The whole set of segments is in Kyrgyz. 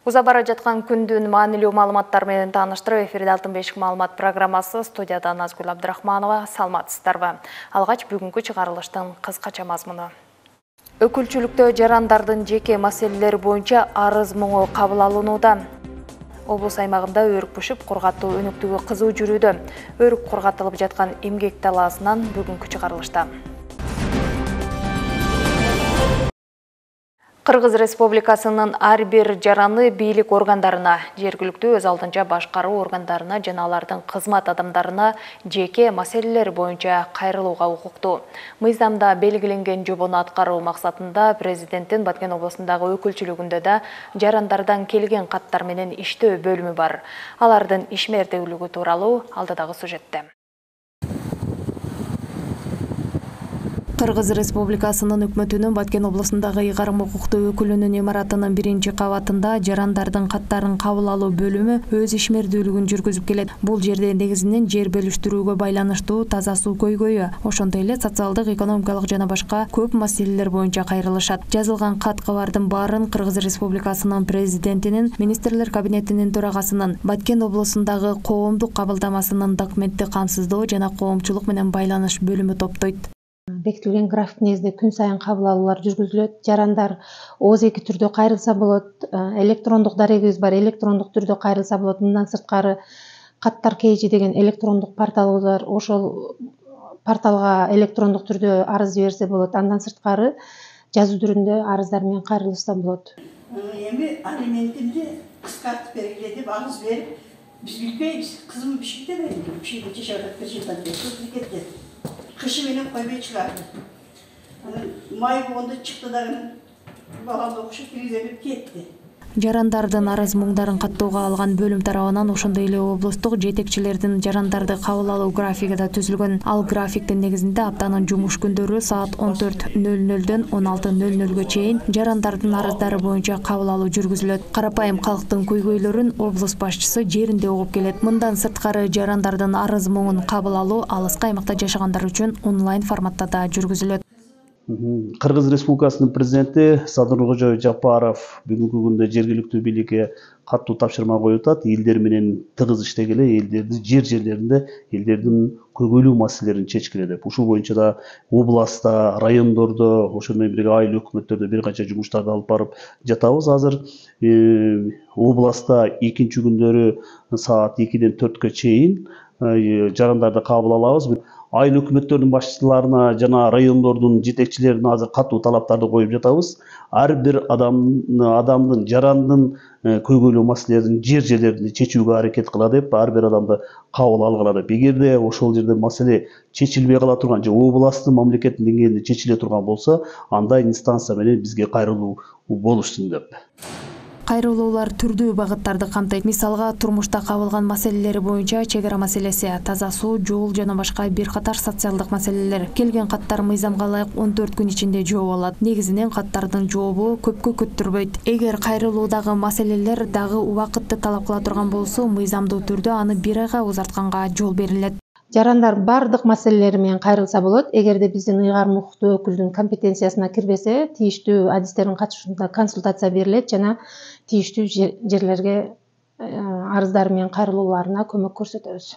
Уза бара жаткан күндүн маанилүү маалыматтар менен тааныштырып, эфирде Алтын бешик маалымат программасы, студияда Назгүл Абдрахманова. Саламатсыздарбы? Алгач бүгүнкү чыгарылыштын кыскача мазмуну. Өкүлчүлүктө жарандардын жеке маселелери боюнча арыз моңу кабыл алынууда. Облус аймагында өрүк бышып, кургатуу өнүктүгү кызуу жүрүүдө. Өрүк кургатылып жаткан эмгек талаасынан бүгүнкү чыгарылышта. Кыргыз Республикасынын ар бир жараны бийлик органдарына, жергиликтүү өз алдынча башкаруу органдарына жана алардын кызмат адамдарына жеке маселелер боюнча кайрылууга укуктуу. Мыйзамда белгиленген жобону аткаруу максатында президенттин Баткен облусундагы өкүлчүлүгүндө да жарандардан келген каттар менен иштөө бөлүмү бар. Алардын ишмердүүлүгү тууралуу алдыдагы сюжетте. Кыргыз Республикасынын өкмөтүнүн Баткен облусундагы ыйгарым укуктуу өкүлүнүн имаратынын 1-кабатында жарандардын каттарын кабыл алуу бөлүмү өз ишмердүүлүгүн жүргүзүп келет. Бул жерде негизинен жер бөлүштүрүүгө байланыштуу таза суу көйгөйү, ошондой эле социалдык, экономикалык жана башка көп маселелер боюнча кайрылышат. Жазылган кат-кабардын баарын Кыргыз Республикасынын президентинин, министрлер кабинетинин төрагасынын, Баткен облусундагы коомдук кабылдамасынын документти камсыздоо жана коомчулук менен байланыш бөлүмү топтойт. Бекитилген график негизинде күн сайын кабыл алуулар жүргүзүлөт. Жарандар ооз-эки түрдө кайрылса болот. Электрондук дарегибиз бар, электрондук түрдө кайрылса болот. Мындан сырткары каттар кейжи деген электрондук порталыбыз бар. Ошол порталга электрондук түрдө арыз берсе болот. Андан сырткары жазуу түрүндө арыздар менен кайрылышса болот. Эми алиментимди кыскартып бергиле деп арыз берип, биз билбейбиз. Кызым Бишкекте берди. Бишкекте жашап атат, Бишкектен кетти. Кышы менен койбой чыгарды. Май болгондо чыкты дагы баламды окушуп киргизип кетти. Жарандардын арыз муңдарын каттоого алган бөлүм тарабынан ошондой эле облустук жетекчилердин жарандарды кабыл алуу графиги да түзүлгөн. Ал графиктин негизинде аптанын жумуш күндөрү саат 14:00дөн 16:00га чейин жарандардын арыздары боюнча кабыл алуу жүргүзүлөт. Карапайым калктын көйгөйлөрүн облус башчысы жеринде угуп келет. Мындан сырткары жарандардын арыз муңун кабыл алуу алыскы аймакта жашагандар үчүн онлайн форматта да жүргүзүлөт. Кыргыз Республикасынын президенти Садыр Жапаров бүгүнкү күндө жергиликтүү бийликке каттуу тапшырма коюп атат. Элдер менен тыгыз иштегиле, элдерди жерлеринде элдердин көйгөйлүү маселелерин чечкиле деп. Ушул боюнча да областта, райондордо, ошол менен бирге айыл өкмөттөрдө бир канча жумуштарды алып барып жатабыз. Азыр областта экинчи күндөрү саат 2-ден 4-кө чейин жарандарды кабыл алабыз. Айыл өкмөттөрдүн башчыларына жана райондордун жетекчилерине азыр катуу талаптарды коюп жатабыз. Ар бир адамдын, жарандын көйгөйлүү маселелерин жерлеринде чечүүгө аракет кыла деп, ар бир адамды кабыл алгыла деп. Эгерде ошол жерде маселе чечилбей кала турган же областтын, мамлекеттин деңгээлинде чечиле турган болсо, андай инстанция менен бизге кайрылуу болушсун деп. Кайрылуулар түрдүү багыттарды камтыйт. Мисалга, турмушта кабылган маселелери боюнча чек ара маселеси, таза суу, жол жана башка бир катар социалдык маселелер. Келген каттар мыйзамга ылайык 14 күн ичинде жооп алат. Негизинен каттардын жообу көпкө күттүрбөйт. Эгер кайрылуудагы маселелер дагы убакытты талап кыла турган болсо, мыйзамдуу түрдө аны 1 айга узартканга жол берилет. Жарандар бардык маселелери менен кайрылса болот. Эгерде биздин ыйгарым укуктуу өкүлдүн компетенциясына кирбесе, тиештүү адистердин катышуусунда консультация берилет жана тиештүү жерлерге арыздары менен кайрылууларына көмөк көрсөтөбүз.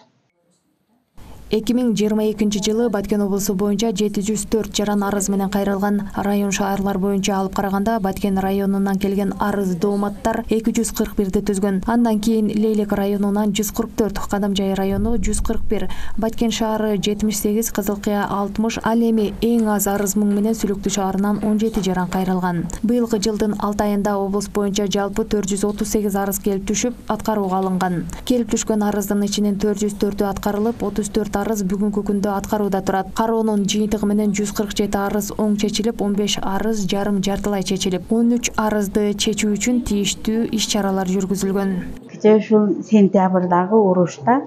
2022-жылы Баткен облусу боюнча 704 жаран арыз менен кайрылган. Район шаарлар боюнча алып караганда Баткен районунан келген арыз дооматтар 241-ди түзгөн. Андан кийин Лейлек районунан 144, Кадамжай району 141, Баткен шаары 78, Кызыл Кыя 60, ал эми эң аз арыз муң менен Сүлүктүү шаарынан 17 жаран кайрылган. Быйылкы жылдын 6 айында облус боюнча жалпы 438 арыз келип түшүп, аткарууга алынган. Келип түшкөн арыздын ичинен 404-ü аткарылып, 34 арыз бүгүнкү күндө аткарууда турат. Кароонун жыйынтыгы менен 147 арыз оң чечилип, 15 арыз жарым-жартылай чечилип, 13 арызды чечүү үчүн тийиштүү иш-чаралар жүргүзүлгөн. Кечээ ушул сентябрдагы урушта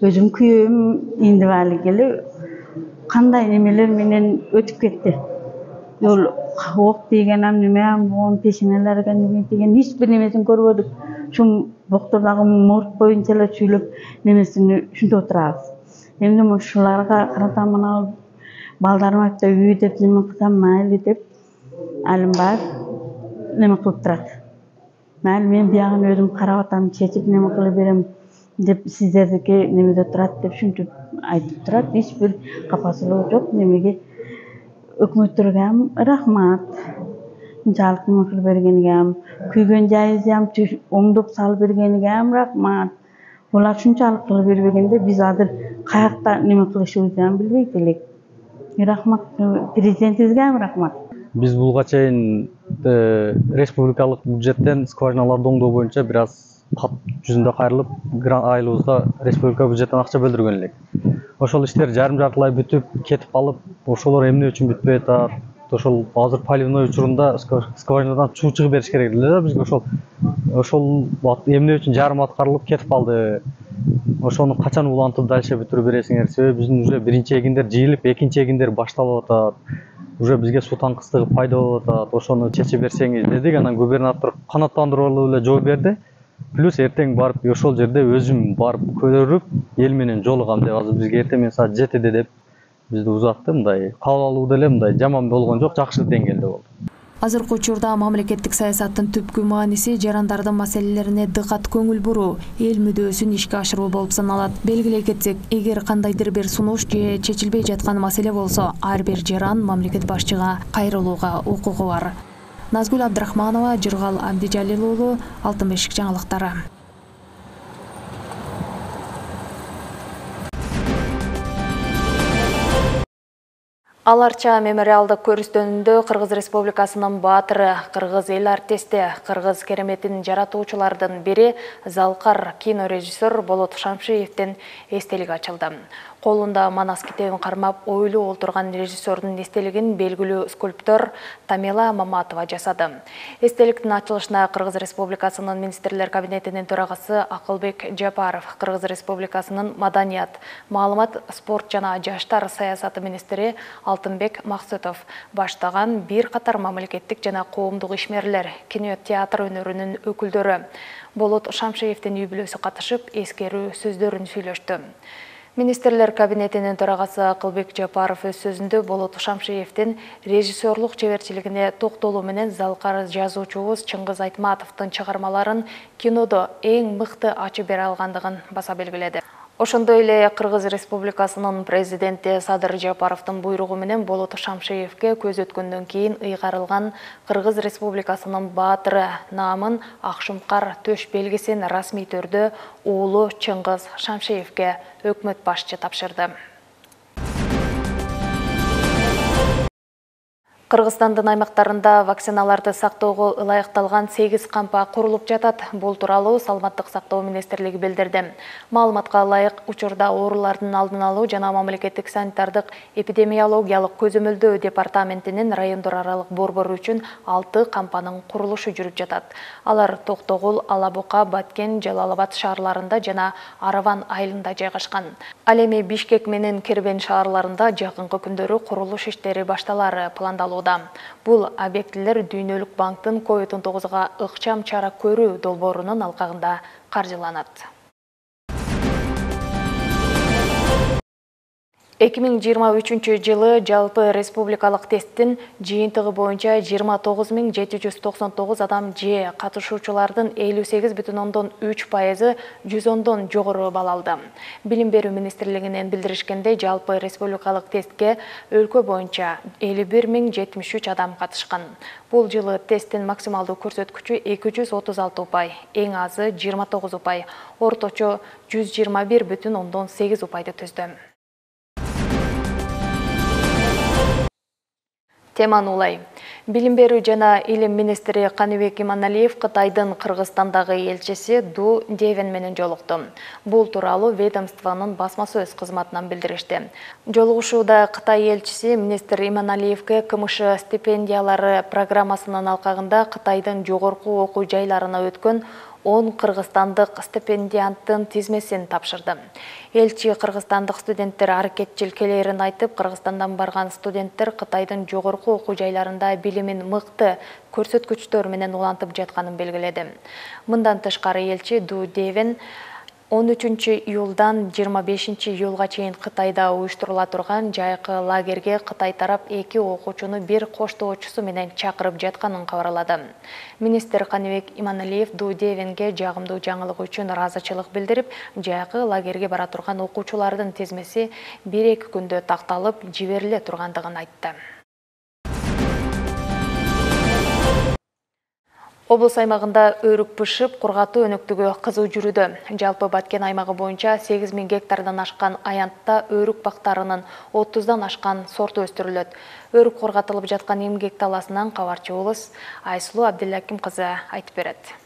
өзүм күйөөм индивали келип кандай немелер менен өтүп кетти. Жол ок тийген, неме болгон, пешенелерге неме тийген, эч бир немесин көрбөдүк. Ушул доктурдагы морг боюнча эле сүйлөп немесин ушинтип отурабыз. Эми ушуларга карата мына балдарым айтты, үй деп неме кылсам майылы деп алынбай неме кылып турат. Майли мен биягын өзүм карап атам, чечип неме кыла берем деп сиздердики немеде турат деп шүнтүп айтып турат. Эч бир капасыздыгы жок. Немеге өкмөттөргө ham рахмат. Мынчалык неме кылып бергениге ham, күйгөн жайыбызды ham оңдоп салып бергениге ham рахмат. Булар шунчалык кылып бербегенде биз азыр каякта неме кылышыбызды ham билбейт элек. Рахмат, президентибизге ham рахмат. Биз булга чейин республикалык бюджеттен скважиналарды оңдоо боюнча бир аз кат жүзүндө кайрылып, айылыбызга республика бюджеттен акча бөлдүргөн элек. Ошол иштер жарым жартылай бүтүп кетип калып, ошолор эмне үчүн бүтпөй атат? Ошол азыр поливной учурунда скважинадан суу чыгып бериш керек эле да бизге. Ошол эмне үчүн жарым аткарылып кетип калды? Ошону качан улантып дальше бүтүрүп бересиңер? Себеби биздин уже биринчи эгиндер жыйылып, экинчи эгиндер башталып атат. Уже бизге суу таңкыстыгы пайда болуп атат. Ошону чечип берсеңиз дедик. Анан губернатор канааттандыруу эле жооп берди. Плюс эртең барып ошол жерде өзүм барып көрүп, эл менен жолугам деп азыр бизге эртең менен саат 7-де деп бизди узатты. Мындай кабыл алуу деле мындай жаман болгон жок, жакшы деңгээлде болду. Азыркы учурда мамлекеттик саясаттын түпкү мааниси жарандардын маселелерине дыкат көңүл буруу, эл мүдөөсүн ишке ашыруу болуп саналат. Белгилей кетсек, эгер кандайдыр бир сунуш же чечилбей жаткан маселе болсо, ар бир жаран мамлекет башчыга кайрылууга укугу бар. Назгүл Абдрахманова, Жыргал Абдижалил уулу, Алтын бешик жаңылыктары. Аларча мемориалдык көрүстөнүндө Кыргыз Республикасынын баатыры, кыргыз эл артисти, кыргыз кереметин жаратуучулардын бири Залкар кинорежиссер Болот Шамшиевдин эстелиги ачылды. Колунда Манас китебин кармап ойлуу олтурган режиссердун эстелигин белгилүү скульптор Тамила Маматова жасады. Эстеликтин ачылышына Кыргыз Республикасынын министрлер кабинетинин төрагасы Акылбек Жапаров, Кыргыз Республикасынын маданият, маалымат, спорт жана жаштар саясаты министри Алтынбек Максутов баштаган бир катар мамлекеттик жана коомдук ишмерлер, кинотеатр өнөрүнүн өкүлдөрү Болот Шамшиевдин үй-бүлөсү катышып, эскерүү сөздөрүн сүйлөштү. Министрлер кабинетинин төрагасы Акылбек Жапаров өз сөзүндө Болот Шамшиевдин режиссерлук чеберчилигине токтолуу менен Залкар жазуучубуз Чыңгыз Айтматовдун чыгармаларын кинодо эң мыкты ачып бере алгандыгын баса белгиледи. Ошондой эле Кыргыз Республикасынын президенти Садыр Жапаровдун буйругу менен Болот Шамшиевге көз өткөндөн кийин ыйгарылган Кыргыз Республикасынын баатыры наамын Акшумкар төш белгисин расмий түрдө уулу Чыңгыз Шамшиевге өкмөт башчы тапшырды. Кыргызстандын аймактарында вакциналарды сактоого ылайыкталган 8 кампа курулуп жатат. Бул тууралуу Саламаттык сактоо министрлиги билдирди. Маалыматка ылайык, учурда оорулардын алдын алуу жана мамлекеттик санитардык эпидемиологиялык көзөмөлдөө департаментинин райондор аралык борбору үчүн 6 кампанын курулушу жүрүп жатат. Алар Токтогул, Алабука, Баткен, Жалал-Абад шаарларында жана Араван айылында жайгашкан. Ал эми Бишкек менен Кербен шаарларында жакынкы күндөрү курулуш иштери башталары пландалууда. Бул объектилер Дүйнөлүк банктын COVID-19-га ыкчам чара көрүү долбоорунун алкагында каржыланат. 2023 жылы жалпы республикалык тесттин жыйынтыгы боюнча 29799 адам же катышуучулардын 58,3% 110дон жогору балл алды. Билим берүү министрлигинен билдиришкенде, жалпы республикалык тестке өлкө боюнча 51073 адам катышкан. Бул жылы тесттин максималдуу көрсөткүчү 236 упай, эң азы 29 упай, орточо 121,8 упайды түздү. Теман улай. Билим берүү жана илим министри Каныбек Иманалиев Кытайдын Кыргызстандагы элчиси Ду Девен менен жолукту. Бул тууралуу ведомствонун басма сөз кызматынан билдиришти. Жолугушууда Кытай элчиси министр Иманалиевге КМШ стипендиялары программасынын алкагында Кытайдын жогорку окуу жайларына өткөн 10 кыргызстандык стипендианттын тизмесин тапшырды. Элчи кыргызстандык студенттер аракетчил келерин айтып, Кыргызстандан барган студенттер Кытайдын жогорку окуу жайларында билимин мыкты көрсөткүчтөр менен улантып жатканын белгиледи. Мындан тышкары элчи Ду Девен 13-июлдан 25-июлга чейин Кытайда уюштурула турган жайкы лагерге Кытай тарап 2 окуучуну бир коштоочусу менен чакырып жатканын кабарлады. Министр Каныбек Иманалиев Ду Девенге жагымдуу жаңылык үчүн ыраазычылык билдирип, жайкы лагерге бара турган окуучулардын тизмеси 1-2 күндө такталып жибериле тургандыгын айтты. Облус аймагында өрүк бышып, кургатуу өнүктүгү кызуу жүрүүдө. Жалпы Баткен аймагы боюнча 8000 гектардан ашкан аянтта өрүк бактарынын 30дан ашкан сорту өстүрүлөт. Өрүк кургатылып жаткан эмгек таласынан кабарчыбыз Айсулуу Абдилаким кызы айтып берет.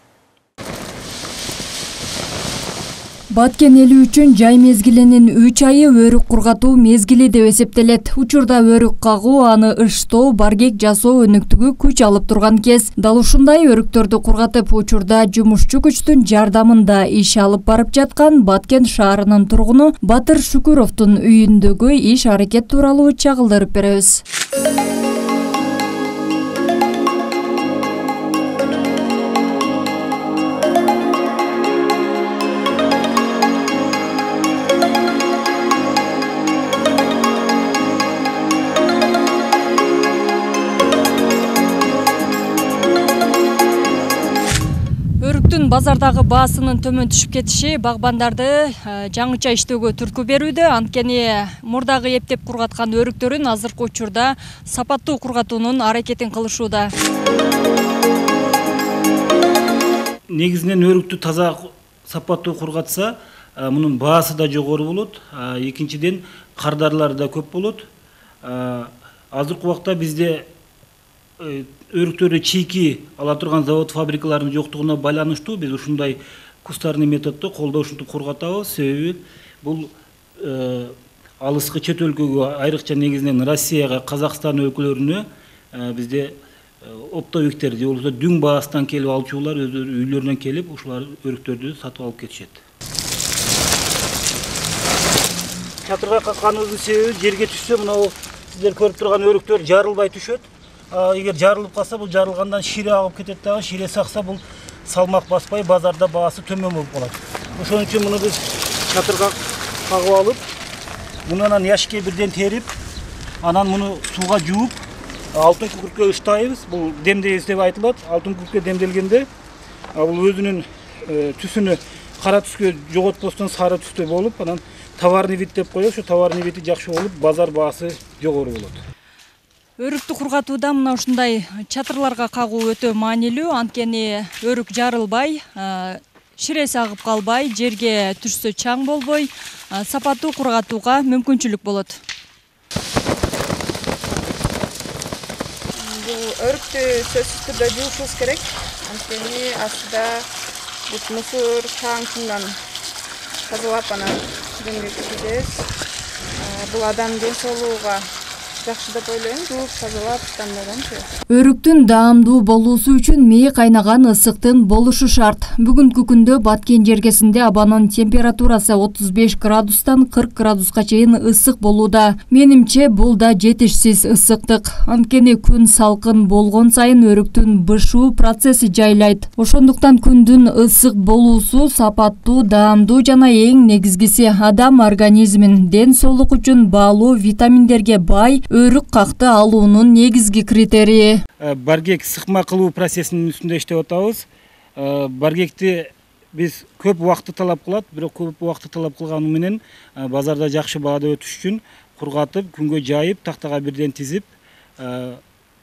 Баткен эли үчүн жай мезгилинин 3 айы өрүк кургатуу мезгили деп эсептелет. Учурда өрүк кагуу, аны ыштоо, баргек жасоо өнүктүгү күч алып турган кез. Дал ушундай өрүктөрдү кургатып, учурда жумушчу күчтүн жардамында иш алып барып жаткан Баткен шаарынын тургуну Батыр Шүкүровдун үйүндөгү иш аракет тууралуу чагылдырып беребиз. Базардагы баасынын төмөн түшүп кетиши багбандарды жаңыча иштөөгө түрткү берүүдө. Анткени мурдагы эптеп кургаткан өрүктөрүн азыркы учурда сапаттуу кургатуунун аракетин кылышууда. Негизинен өрүктү таза сапаттуу кургатса, мунун баасы да жогору болот. Экинчиден кардарлар да көп болот. Азыркы убакта бизде өрүктөрдү чийки ала турган завод фабрикалардын жоктугуна байланыштуу биз ушундай кустарный методдо колдо ушинтип кургатабыз. Себеби бул алыскы чет өлкөгө, айрыкча негизинен Россияга, Казакстан өлкөлөрүнө бизде оптовиктер же болбосо дүң баасынан келип алчулар өздөрү үйлөрүнөн келип ушулар өрүктөрдү сатып алып кетишет. Чатырга какканыбыздын себеби жерге түшсө, мына сиздер көрүп турган өрүктөр жарылбай түшөт. Эгер жарылып калса, бул жарылгандан шире агып кетет дагы, шире сакса бул салмак баспай базарда баасы төмөн болуп калат. Ошон үчүн муну биз чатырга кагып алып, муну анан яшикке бирден терип, анан муну сууга жууп, алтын күкүрткө ыштайбыз. Бул демдейбиз деп айтылат. Алтын күкүрткө демделгенде бул өзүнүн түсүнү кара түскө жоготпостон сары түстө болуп, анан товарный вид деп коебуз. Ошо товарный види жакшы болуп, базар баасы жогору болот. Өрүктү кургатууда мына ушундай чатырларга кагуу өтө маанилүү. Анткени өрүк жарылбай, ширеси агып калбай, жерге түшсө чаң болбой, сапаттуу кургатууга мүмкүнчүлүк болот. Бул өрүктү сөзсүз түрдө жуушубуз керек. Анткени астыда мусор, чаң-чуңдан тазалап анан демге киргизебиз. Бул адам ден соолугуга жакшы деп ойлойм. Жууп тазалап тандаганчы. Өрүктүн даамдуу болуусу үчүн мээ кайнаган ысыктын болушу шарт. Бүгүнкү күндө Баткен жергесинде абанын температурасы 35 градустан 40 градуска чейин ысык болууда. Менимче бул да жетишсиз ысыктык. Анткени күн салкын болгон сайын өрүктүн бышуу процесси жайлайт. Ошондуктан күндүн ысык болуусу сапаттуу, даамдуу жана эң негизгиси адам организмин ден соолук үчүн баалуу витаминдерге бай өрүк какты алуунун негизги критерийи. Баргек сыкма кылуу процессинин үстүндө иштеп атабыз. Баргекти биз көп убакытты талап кылат, бирок көп убакытты талап кылганы менен базарда жакшы баада өтүш үчүн кургатып, күнгө жайып, тактага бирден тизип,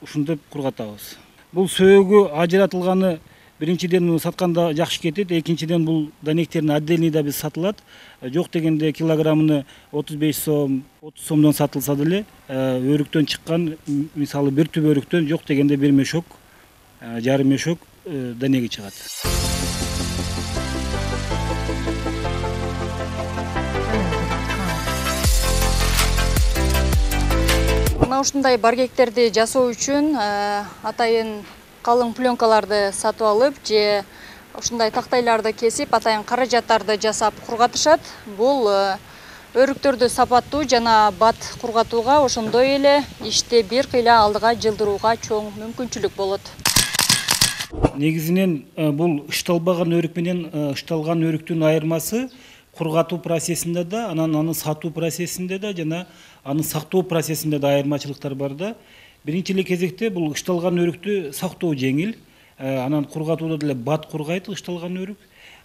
ушинтип кургатабыз. Бул сөөгү ажыратылганы биринчиден сатканда жакшы кетет, экинчиден бул данектерин отдельный да биз сатылат. Жок дегенде килограммыны 35 сом, 30 сомдон сатылса деле, өрүктөн чыккан, мисалы бир түп өрүктөн жок дегенде бир мешок, жарым мешок данеги чыгат. Мына ушундай баргектерди жасоо үчүн атайын калың пленкаларды сатып алып же ушундай тактайларды кесип атайын каражаттарды жасап кургатышат. Бул өрүктөрдү сапаттуу жана бат кургатууга, ошондой эле ишти бир кыйла алдыга жылдырууга чоң мүмкүнчүлүк болот. Негизинен бул ышталбаган өрүк менен ышталган өрүктүн айырмасы кургатуу процессинде да, анан аны сатуу процессинде да жана аны сактоо процессинде да айырмачылыктар бар да. Биринчи эле кезекте бул ышталган өрүктү сактоо жеңил, анан кургатууда деле бат кургайт ышталган өрүк.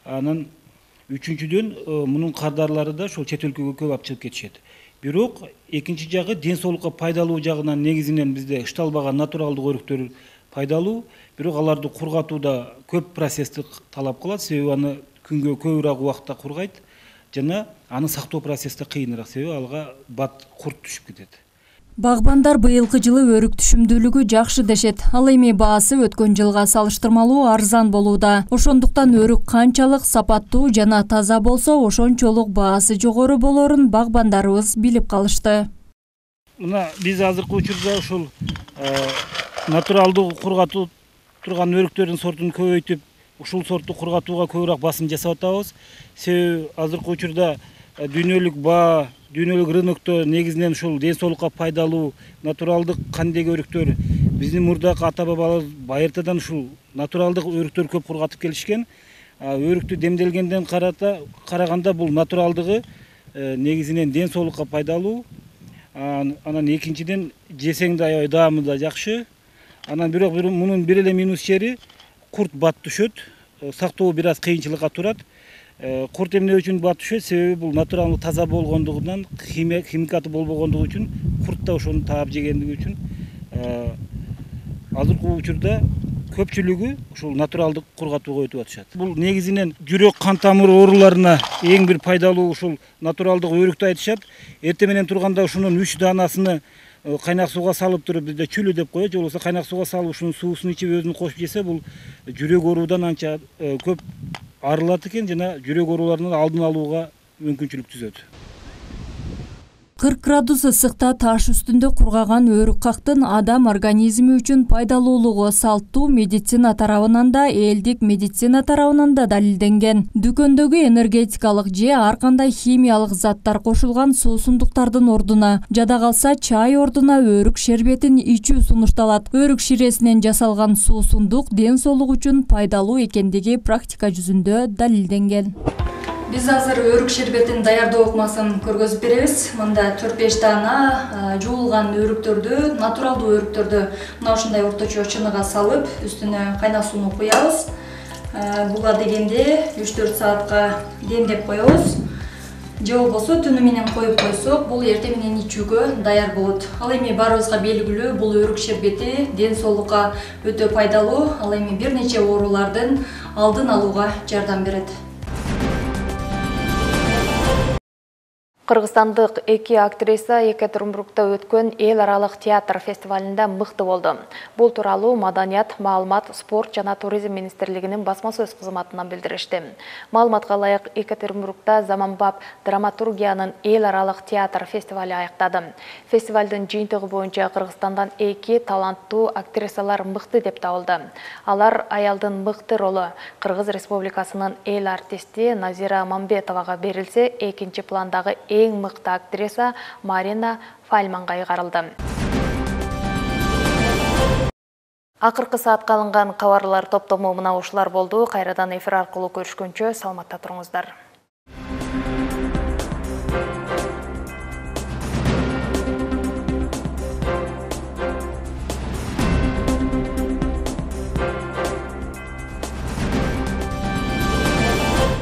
Анан үчүнчүдөн мунун кардарлары да ошол чет өлкөгө көп алып чыгып кетишет. Бирок экинчи жагы ден соолукка пайдалуу жагынан негизинен бизде ышталбаган натуралдык өрүктөр пайдалуу, бирок аларды кургатууда көп процессти талап кылат, себеби аны күнгө көбүрөөк убакытта кургайт жана аны сактоо процесси кыйыныраак, себеби алга бат курт түшүп кетет. Багбандар быйылкы жылы өрүк түшүмдүүлүгү жакшы дешет. Ал эми баасы өткөн жылга салыштырмалуу арзан болууда. Ошондуктан өрүк канчалык сапаттуу жана таза болсо, ошончолук баасы жогору болорун багбандарыбыз билип калышты. Мына биз азыркы учурда ушул натуралдуу кургатуу турган өрүктөрдүн сортун көбөйтүп, ушул сортту кургатууга көбүрөөк басым жасап атабыз. Себеби азыркы учурда дүйнөлүк баа, дүйнөлүк рынокто негизинен ушул ден соолукка пайдалуу натуралдык кандеги өрүктөр, биздин мурдакы ата бабалар байыртадан ушул натуралдык өрүктөр көп кургатып келишкен. Өрүктү демделгенден караганда бул натуралдыгы негизинен ден соолукка пайдалуу. Анан экинчиден жесең да аябай даамы да жакшы. Анан бирок мунун бир эле минус жери курт бат түшөт. Сактоо бир аз кыйынчылыкка турат. Курт эмне үчүн бат түшөт? Себеби бул натуралдык таза болгондугунан, химикаты болбогондугу үчүн, курт да ошону таап жегендиги үчүн азыркы учурда көпчүлүгү ушул натуралдык кургатууга өтүп атышат. Бул негизинен жүрөк кан тамыр ооруларына эң бир пайдалуу ушул натуралдык өрүктү айтышат. Эртең менен турганда ушунун 3 даанасыны кайнак сууга салып туруп, бизде чүлү деп коет, же болбосо кайнак сууга салып ушунун суусун ичип өзүн кошуп жесе, бул жүрөк оорудан анча көп арылат экен жана жүрөк ооруларынын алдын алууга мүмкүнчүлүк түзөт. 40 градус ысыкта таш үстүндө кургаган өрүк кактын адам организми үчүн пайдалуулугу салттуу медицина тарабынан да, элдик медицина тарабынан да далилденген. Дүкөндөгү энергетикалык же ар кандай химиялык заттар кошулган суусундуктардын ордуна, жада калса чай ордуна өрүк шербетин ичүү сунушталат. Өрүк ширесинен жасалган суусундук ден соолук үчүн пайдалуу экендиги практика жүзүндө далилденген. Биз азыр өрүк шербетин даярдоо ыкмасын көргөзүп беребиз. Мында 4-5 даана жуулган өрүктөрдү, натуралдуу өрүктөрдү мына ушундай орточо чыныга салып, үстүнө кайнак сууну куябыз. Буга дегенде 3-4 саатка демдеп коебуз. Же болбосо түнү менен коюп койсок, бул эртең менен ичүүгө даяр болот. Ал эми баарыбызга белгилүү, бул өрүк шербети ден соолукка өтө пайдалуу. Ал эми бир нече оорулардын алдын алууга жардам берет. Кыргызстандык 2 актриса Екатеринбургда өткөн эл аралык театр фестивалында мыкты болду. Бул тууралуу Маданият, маалымат, спорт жана туризм министрлигинин басма сөз кызматынан билдиришти. Маалыматка ылайык, Екатеринбургда заманбап драматургиянын эл аралык театр фестивали аяктады. Фестивалдын жыйынтыгы боюнча Кыргызстандан 2 таланттуу актрисалар мыкты деп табылды. Алар аялдын мыкты ролу Кыргыз Республикасынын эл артисти Назира Мамбетовага берилсе, экинчи пландагы эң мыкты актриса Марина Фальманга кайгарылды. Акыркы саатка алынган кабарлар топтому мына ушулар болду. Кайрадан эфир аркылуу көрүшкөнчө саламатта туруңуздар.